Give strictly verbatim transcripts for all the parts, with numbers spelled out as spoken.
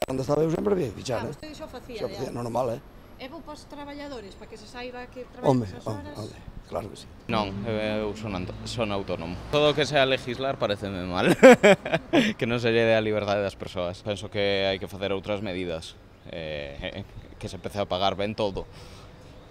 Cando estaba eu sempre había que fichar, Ah, eh? vostede xo facía, Xo facía, normal, eh? É bo para os traballadores, para que se saiba que Home, traballan esas home, horas? home, claro que sí. Non, eu son, son autónomo. Todo o que sea legislar pareceme mal. Que non se lle dé a liberdade das persoas. Penso que hai que facer outras medidas. Eh, que se empece a pagar ben todo.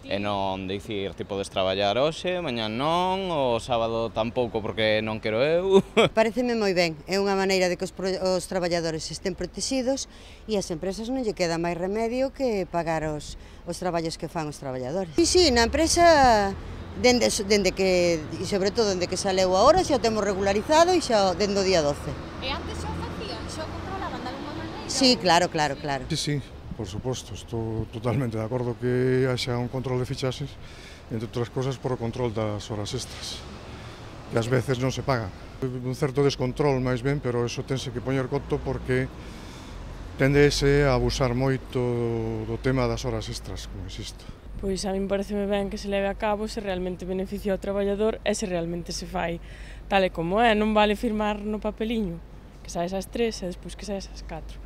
E non dicir, ti podes traballar hoxe, mañán non, o sábado tampouco porque non quero eu. Pareceme moi ben, é unha maneira de que os, os traballadores estén protegidos e as empresas non lle queda máis remedio que pagar os, os traballos que fan os traballadores. Sí, sí, na empresa, dende, dende que, e sobre todo dende que saleu a hora, xa o temos regularizado e xa dende o día doce. E antes xo facían, xo controlaban de alguma maneira? Sí, claro, claro, claro. Sí, sí, por suposto, estou totalmente de acordo que haxa un control de fichaxes, entre outras cosas por o control das horas extras, que ás veces non se pagan. Un certo descontrol máis ben, pero eso tense que poñer coto porque tendese a abusar moito do tema das horas extras, como existo. Pois a min pareceme ben que se leve a cabo se realmente beneficia ao traballador e se realmente se fai tal e como é, non vale firmar no papeliño que saes ás tres e despois que saes ás catro.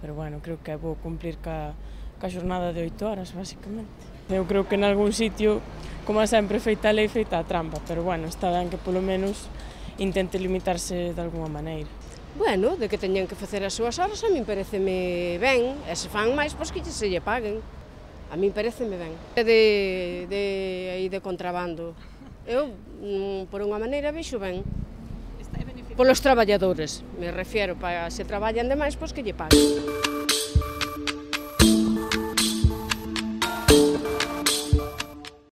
Pero bueno, creo que é bo cumplir ca, ca xornada de oito horas, basicamente. Eu creo que en algún sitio, como sempre, feita a lei, feita a trampa, pero bueno, está ben que polo menos intente limitarse de alguma maneira. Bueno, de que teñan que facer as súas horas, a min pareceme ben, e se fan máis, pois que se lle paguen. A min pareceme ben. De, de, aí de contrabando, eu, por unha maneira, vexo ben. Polos traballadores, me refiero, para se traballan demais, pois que lle paguen.